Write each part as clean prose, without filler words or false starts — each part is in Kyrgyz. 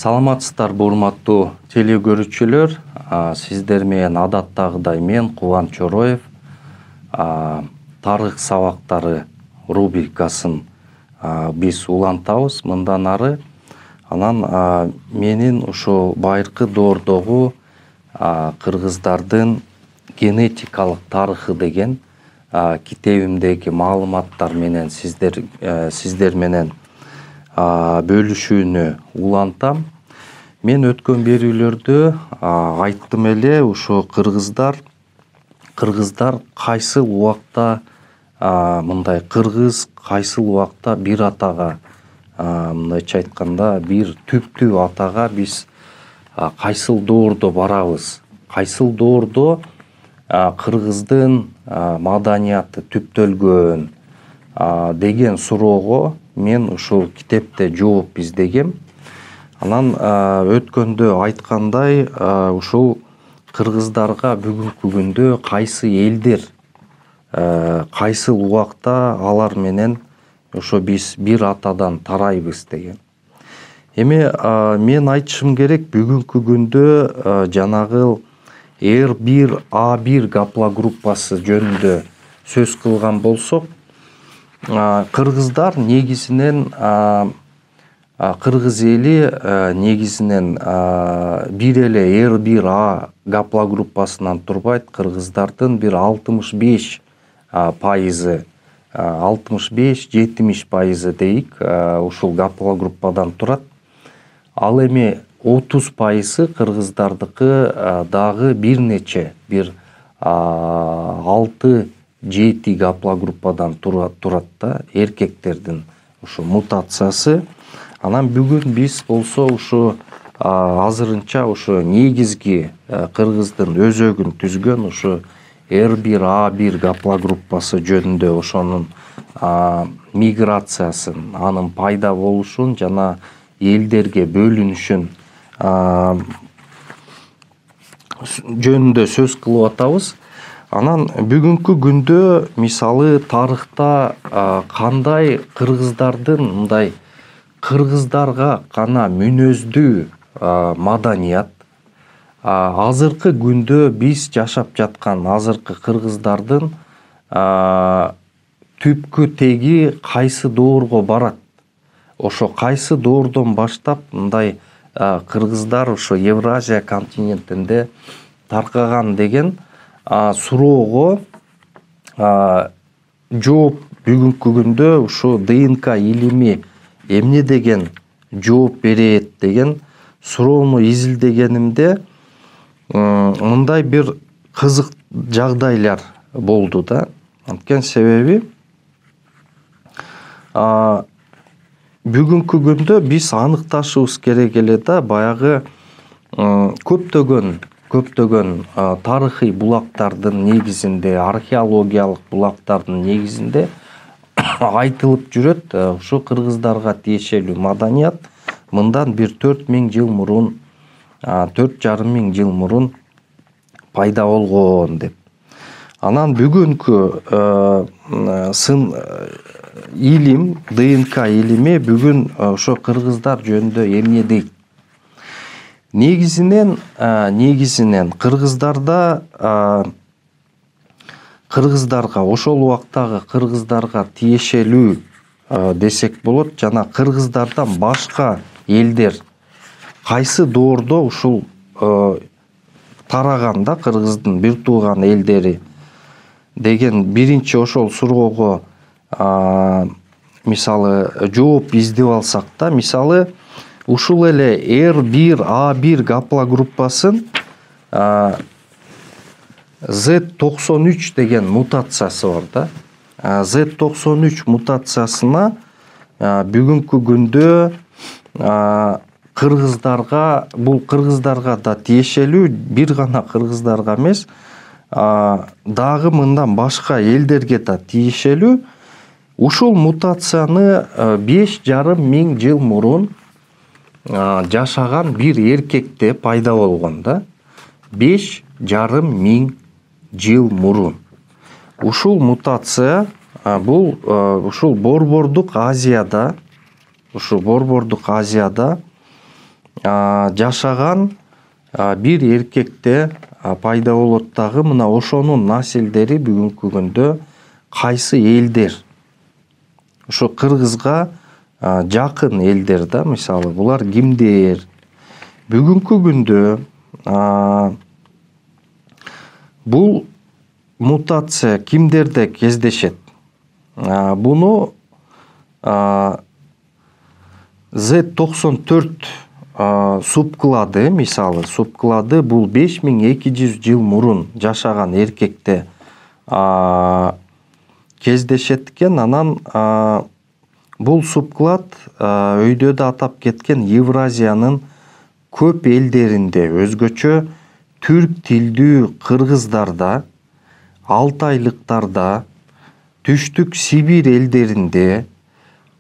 Саламатсыздарбы урматтуу телекөрүүчүлөр. Сиздер менен адаттагыдай мен Кубан Чороев тарых сабактары рубрикасын биз улантабыз мындан ары. Анан менин ушул байыркы доордогу кыргыздардын генетикалык тарыхы деген китебимдеги маалыматтар менен сиздер менен бөлүшүүнү улантам. Мен өткөн берүүлөрдө айттым эле, ошо кыргыздар кайсыл убакта мындай кыргыз кайсыл убакта бир атага, мындайча айтканда бир түптүү атага биз кайсыл доордо барабыз, кайсыл доордо кыргыздын маданияты түптөлгөн деген суроого мен ушул китепте жооп издегем. Анан өткөндө айткандай, ушул кыргыздарга бүгүнкү күндө кайсы элдер, кайсыл убакта алар менен ошо биз бир атадан тарайбыз деген. Эми мен айтышым керек, бүгүнкү күндө жанагы R1A1 гаплогруппасы жөнүндө сөз кылган болсок, кыргыздар негизинен кыргыз эли негизинен бир эле R1A гаплогруппасынан турбайт. Кыргыздардын бир 65% 65-70% дейик ушул гаплогруппадан турат. Ал эми 30% кыргыздардыкы дагы бир нече, бир 6-7 гаплогруппадан турат да, эркектердин ушу мутациясы. Анан бүгүн биз болсо ушу азырынча ушу негизги кыргыздын өзөгүн түзгөн ушу R1A1 гаплогруппасы жөнүндө, ошонун миграциясын, анын пайда болушун жана элдерге бөлүнүшүн жөнүндө сөз кылып атабыз. Анан бүгүнкү күндө мисалы тарыхта кандай кыргыздардын мындай кыргыздарга гана мүнөздүү маданият, азыркы күндө биз жашап жаткан азыркы кыргыздардын түпкү теги кайсы доорго барат, ошо кайсы доордон баштап мындай кыргыздар ошо Евразия континентинде таркаган деген суроого жооп бүгүнкү күндө ушу ДНК илими эмне деген жооп берет деген суроону изилдегенимде мындай бир кызык жагдайлар болду да. Анткени себеби бүгүнкү күндө биз аныкташыбыз керек эле да, баягы көптөгөн тарыхый булактардын негизинде, археологиялык булактардын негизинде айтылып жүрөт, ушу кыргыздарга тиешелүү маданият мындан бир 4000 жыл мурун, 4,5 жыл мурун пайда болгон деп. Анан бүгүнкү илим, ДНК илими бүгүн ошо кыргыздар жөнүндө эмне дейт? Негизинен кыргыздарга ошол убактагы кыргыздарга тиешелүү десек болот, жана кыргыздардан башка элдер кайсы доордо ушул тараганда, кыргыздын бир тууган элдери деген биринчи ошол суроого мисалы жооп издеп алсак да, мисалы ушул эле R1A1 гаплогруппасын Z93 деген мутациясы бар да. Z93 мутациясына бүгүнкү күндө бул кыргыздарга да тиешелүү, бир гана кыргыздарга эмес, дагы мындан башка элдерге да тиешелүү. Ушул мутацияны 5,5 миң жыл мурун жашаган бир эркекте пайда болгон да. 5,5 миң жыл мурун. Ушул мутация бул ушул Борбордук Азияда жашаган бир эркекте пайда болот дагы мына ошонун населдери бүгүнкү күндө кайсы элдер? Ошо кыргызга жакын элдер да, мисалы булар кимдер? Бүгүнкү күндө бул мутация кимдерде кездешет? Буну Z94 субклады, мисалы субклады бул 5200 жыл мурун жашаган эркекте кездешет экен. Анан бул субклад өйдө да атап кеткен Евразиянын көп элдеринде, өзгөчө түрк тилдүү кыргыздарда, алтайлыктарда, түштүк Сибирь элдеринде,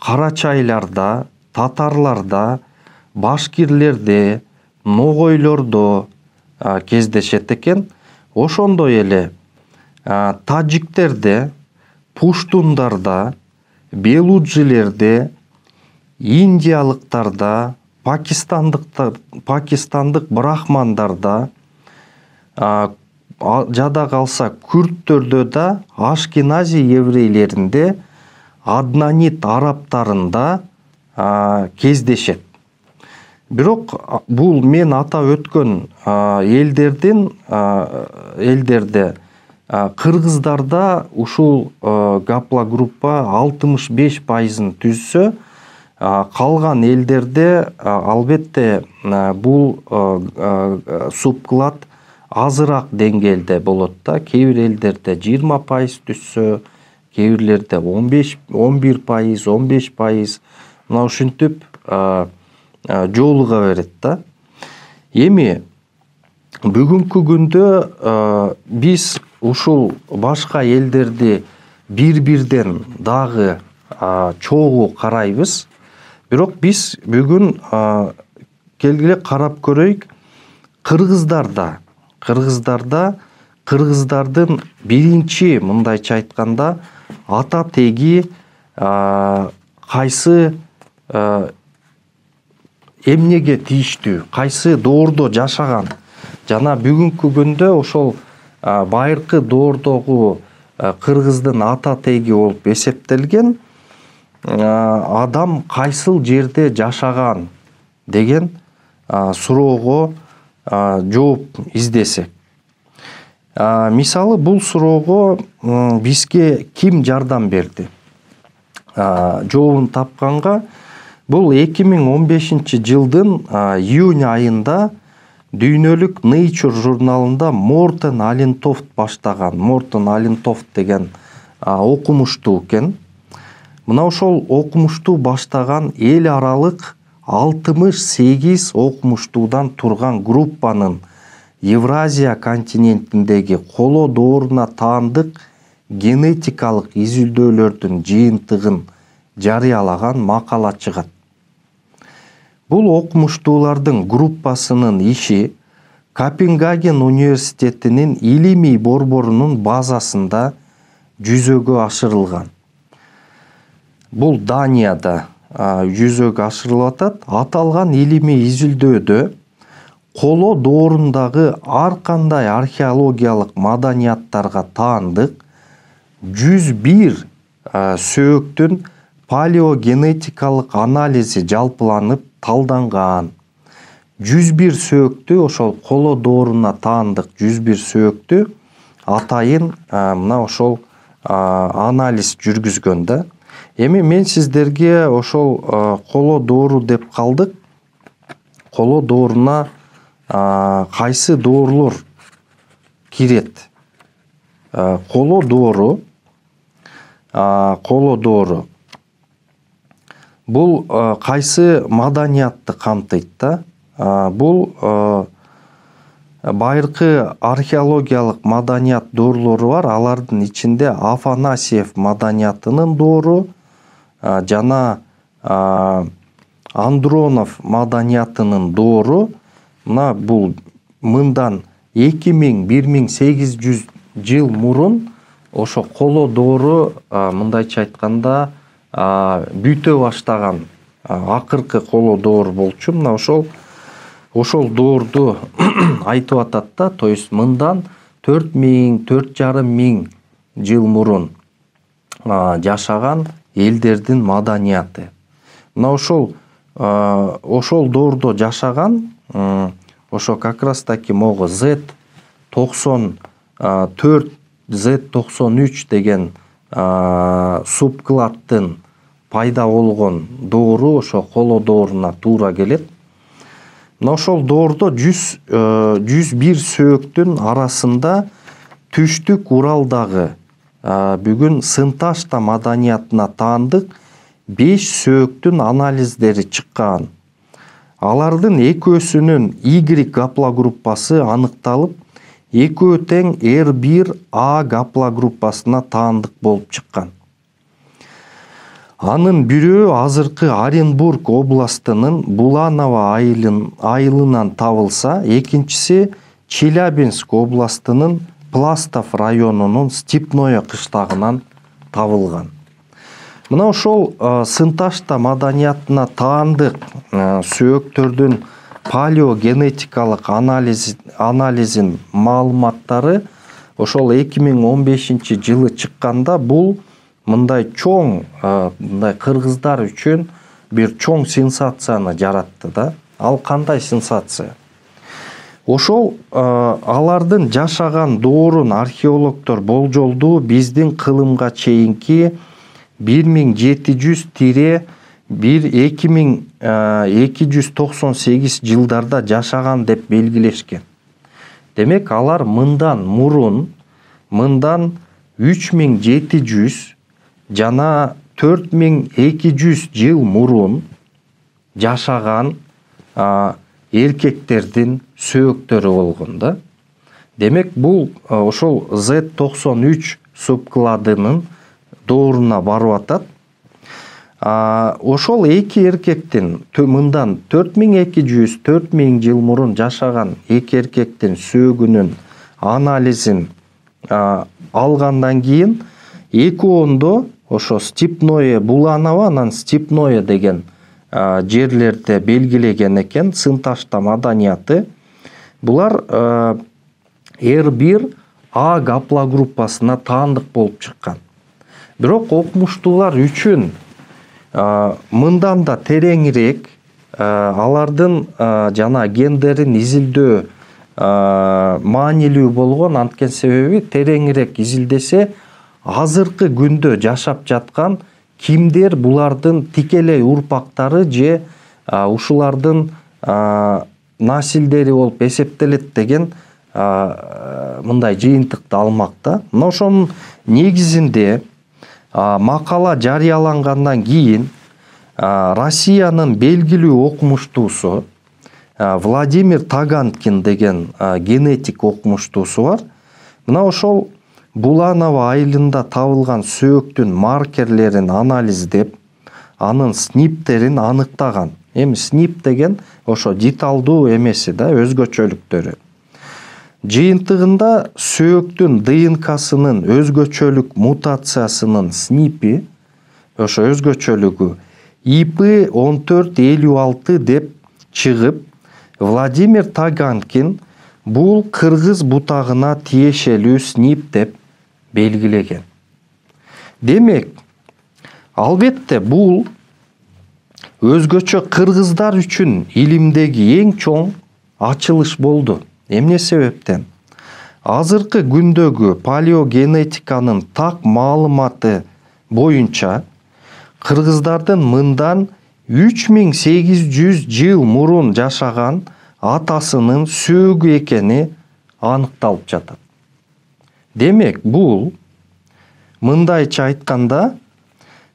карачайларда, татарларда, башкирлерде, ногойлордо кездешет экен. Ошондой эле таджиктерде, пуштундарда, белуджилерде, индиялыктарда, пакистандык брахмандарда, жада калса күрттөрдө да, ашкенази еврейлеринде, аднанит арабтарында кездешет. Бирок бул мен атап өткөн элдерде кыргыздарда ушул гаплогруппа 65%-ын түзсө, калган элдерде албетте бул субклад азыраак деңгээлде болот да. Кээ бир элдерде 20% түзсө, кээ бирлерде 11%, 15%, мына ушинтип жолуга берет да. Эми бүгүнкү күндө биз ушул башка элдерди бир-бирден дагы чогуу карайбыз. Бирок биз бүгүн келгиле карап көрөйүк кыргыздардын биринчи, мындайча айтканда, ата теги кайсы эмнеге тийиштүү, кайсы доордо жашаган. Жана бүгүнкү күндө ошол байыркы доордогу кыргыздын ата теги болуп эсептелген адам кайсыл жерде жашаган деген суроого жооп издесек. Мисалы бул суроого бизге ким жардам берди? Жообун тапканга бул 2015 жылдын июнь айында дүйнөлүк Nature журналында Мортен Алентофт баштаган, Мортен Алентофт деген окумуштуу экен. Мына ошол окумуштуу баштаган эл аралык 68 окумуштуудан турган группанын Евразия континентиндеги коло дооруна таандык генетикалык изилдөөлөрдүн жыйынтыгын жарыялаган макала чыгат. Бул окумуштуулардын группасынын иши Копенгаген университетинин илимий борборунун базасында жүзөгө ашырылган. Бул Данияда жүзөгө ашырылып атат. Аталган илимий изилдөөдө коло доорундагы ар кандай археологиялык маданияттарга таандык 101 сөөктүн палеогенетикалык анализи жалпыланып талданган. 101 сөөктү, ошол коло дооруна таандык 101 сөөктү атайын мына ошол анализ жүргүзгөн да. Эми мен сиздерге ошол коло доору деп калдык. Коло дооруна кайсы доорлор кирет? Коло доору бул кайсы маданиятты камтыйт да? Бул байыркы археологиялык маданият доорлору бар. Алардын ичинде Афанасьев маданиятынын доору жана Андронов маданиятынын доору. Мына бул мындан 2000-1800 жыл мурун ошо коло доору мындайча айтканда бүтө баштаган акыркы коло доор болчу. Мына ошол ошол доорду айтып атат да, то есть мындан 4,000–4,500 жыл мурун жашаган элдердин маданияты. Мына ошол доордо жашаган ошо как раз таки могу Z94, Z93 деген субкладдын пайда болгон доору ошо коло дооруна туура келет. Мына ошол доордо 101 сөөктүн арасында түштүк Уралдагы бүгүн Сын-Ташта маданиятына таандык 5 сөөктүн анализдери чыккан. Алардын экөөсүнүн Y гаплогруппасы аныкталып, экөө тең R1A гаплогруппасына таандык болуп чыккан. Анын бирөө азыркы Оренбург областынын Буланово айылынан табылса, экинчиси Челябинск областынын Пластов районунун Степное кыштагынан табылган. Мына ошол Сын-Ташта маданиятына таандык сөөктөрдүн палеогенетикалык анализин маалыматтары ошол 2015 жылы чыкканда, бул мындай чоң, мындай кыргыздар үчүн бир чоң сенсацияны жаратты да. Ал кандай сенсация? Ошол алардын жашаган доорун археологдор болжолдуу биздин кылымга чейинки 1700–2298 жылдарда жашаган деп белгилешкен. Демек, алар мындан 3700 жана 4200 жыл мурун жашаган эркектердин сөөктөрү болгон да. Демек, бул ошол Z93 субкладынын дооруна барып атат. Ошол эки эркектин мындан 4200–4000 жыл мурун жашаган эки эркектин сөөгүнүн анализин алгандан кийин экөөндө ошо Степное Буланово анан Степное деген жерлерде белгилеген экен Сын-Ташта маданияты. Булар R1A гаплогруппасына таандык болуп чыккан. Бирок окумуштуулар үчүн мындан да тереңирээк алардын жана гендерин изилдөө маанилүү болгон. Анткени себеби тереңирээк изилдесе, азыркы күндө жашап жаткан кимдер булардын тикелей урпактары же ушулардын насилдери болуп эсептелет деген мындай жыйынтыкты алмак да. Мына ошонун негизинде макала жарыялангандан кийин Россиянын белгилүү окумуштуусу Владимир Таганкин деген генетик окумуштуусу бар. Мына ошол Буланово айылында табылган сөөктүн маркерлерин анализдеп, анын сниптерин аныктаган. Эми снип деген ошо деталдуу эмеси да, өзгөчөлүктөрү. Жыйынтыгында сөөктүн ДНКсынын өзгөчөлүк мутациясынын снипи, ошо өзгөчөлүгү IP1456 деп чыгып, Владимир Таганкин бул кыргыз бутагына тиешелүү снип деп белгилеген. Демек, албетте бул өзгөчө кыргыздар үчүн илимдеги эң чоң ачылыш болду. Эмне себептен? Азыркы күндөгү палеогенетиканын так маалыматы боюнча кыргыздардын мындан 3800 жыл мурун жашаган атасынын сөөгү экени аныкталып жатат. Демек, бул мындайча айтканда,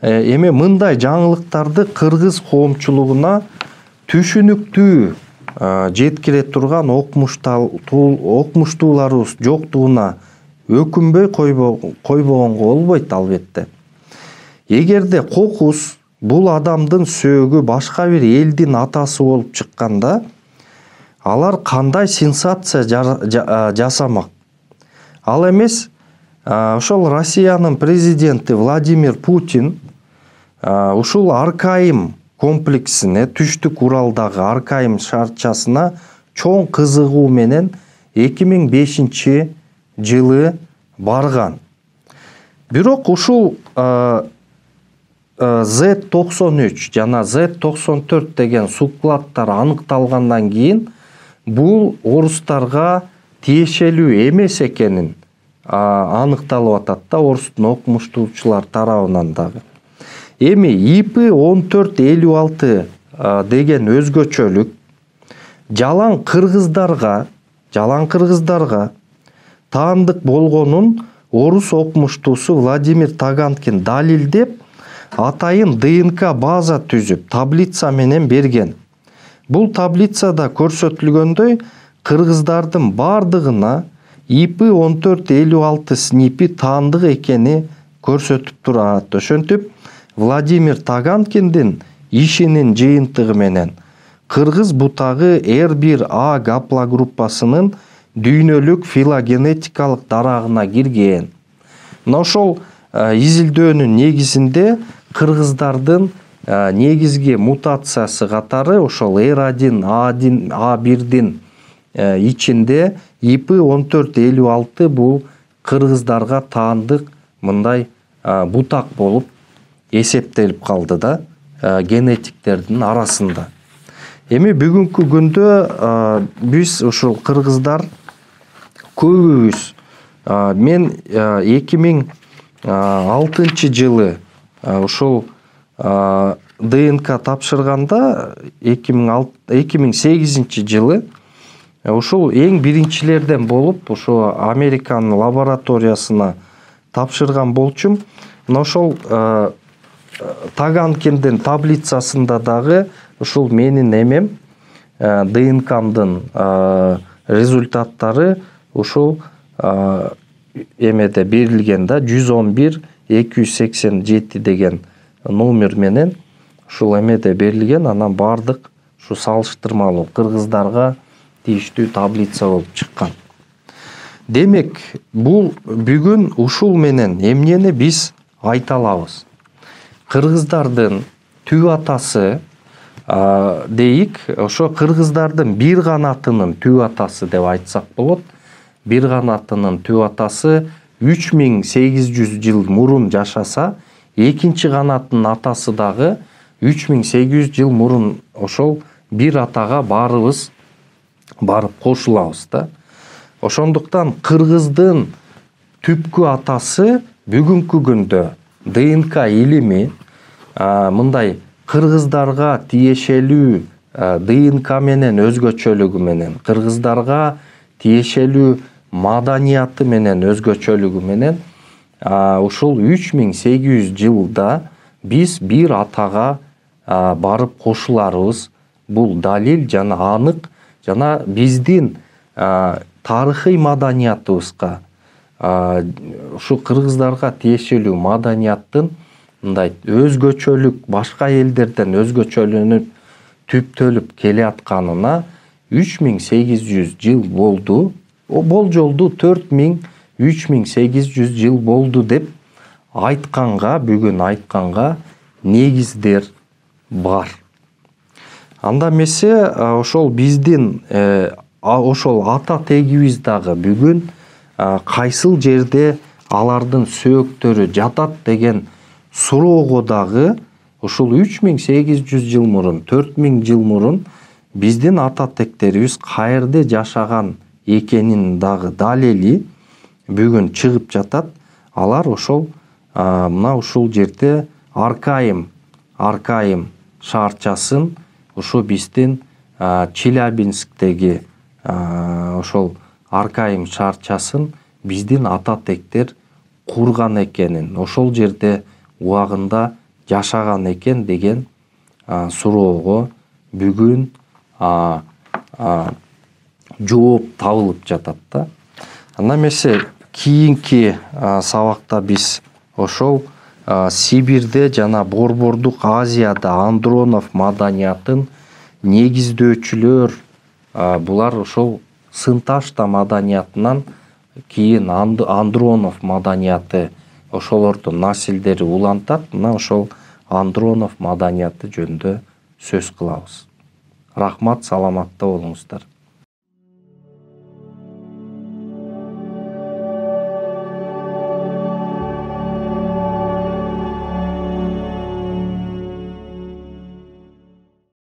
эми мындай жаңылыктарды кыргыз коомчулугуна түшүнүктүү жеткире турган окумуштууларыбыз жоктугуна өкүнбөй койбогонго болбойт албетте. Эгерде кокус бул адамдын сөөгү башка бир элдин атасы болуп чыкканда, алар кандай сенсация жасамак? Ал эмес, ошол Россиянын президенти Владимир Путин ушул аркайым комплексине түштүк Уралдагы Аркайым шаарчасына чоң кызыгуу менен 2005 жылы барган. Бирок ушул Z93 жана Z94 деген суккладтар аныкталгандан кийин бул орустарга тиешелүү эмес экенин аныкталып атат да орустун окумуштуучулар тарабынан дагы. Эми IP1456 деген өзгөчөлүк жалаң кыргыздарга таандык болгонун орус окумуштуусу Владимир Таганкин далилдеп, атайын ДНК база түзүп, таблица менен берген. Бул таблицада көрсөтүлгөндөй, кыргыздардын бардыгына IP1456 снипи таандык экени көрсөтүп турат. Ошентип, Владимир Таганкиндин ишинин жыйынтыгы менен кыргыз бутагы R1A гаплогруппасынын дүйнөлүк филогенетикалык дарагына кирген. Мына ошол изилдөөнүн негизинде кыргыздардын негизги мутациясы катары ошол R1, A1дин ичинде IP1456 бул кыргыздарга таандык мындай бутак болуп эсептелип калды да генетиктердин арасында. Эми бүгүнкү күндө биз ушул кыргыздар көбүбүз мен 2006 жылы ушул ДНК тапшырганда 2008 жылы ушул эң биринчилерден болуп ушул Американын лабораториясына тапшырган болчумун. Мына ошол Таганкиндин таблицасында дагы ушул менин эмем ДНКмдын результаттары ушул эмеде берилген да 111-287 деген номер менен ушул эмеде берилген. Анан бардык ушу салыштырмалуу кыргыздарга тийиштүү таблица болуп чыккан. Демек, бул бүгүн ушул менен эмнени биз айта алабыз? Кыргыздардын түп атасы дейик, ошо кыргыздардын бир канатынын түп атасы деп айтсак болот. Бир канатынын түп атасы 3800 жыл мурун жашаса, экинчи канаттын атасы дагы 3800 жыл мурун ошол бир атага барып кошулабыз да. Ошондуктан кыргыздын түпкү атасы бүгүнкү күндө ДНК илими мындай кыргыздарга тиешелүү ДНК менен өзгөчөлүгү менен, кыргыздарга тиешелүү маданияты менен өзгөчөлүгү менен ушул 3800 жылда биз бир атага барып кошуларыбыз бул далил жана анык, жана биздин тарыхый маданиятыбызга ушу кыргыздарга тиешелүү маданияттын мындай өзгөчөлүк башка элдерден өзгөчөлөнүп түптөлүп келатканына 3800 жыл болду. Болжолду 4000-3800 жыл болду деп бүгүн айтканга негиздер бар. Анда эмесе ошол биздин ошол ата тегибиз дагы бүгүн кайсыл жерде алардын сөөктөрү жатат деген суроого дагы ушул 3800 жыл мурун, 4000 жыл мурун биздин ата тектерибиз каерде жашаган экенин дагы далили бүгүн чыгып жатат. Алар ошол мына ушул жерде Аркайым шаарчасын, ушу биздин Челябинсктеги ошол Аркайым шаарчасын биздин ата тектер курган экенин, ошол жерде убагында жашаган экен деген суроого бүгүн жооп табылып жатат да. Анда эмесе кийинки сабакта биз ошол Сибирде жана Борбордук Азияда Андронов маданиятын негиздөөчүлөр, булар ошол Сынташта маданиятынан кийин Андронов маданияты ошолордун насилдери улантат. Мына ошол Андронов маданияты жөнүндө сөз кылабыз. Рахмат, саламатта болуңуздар.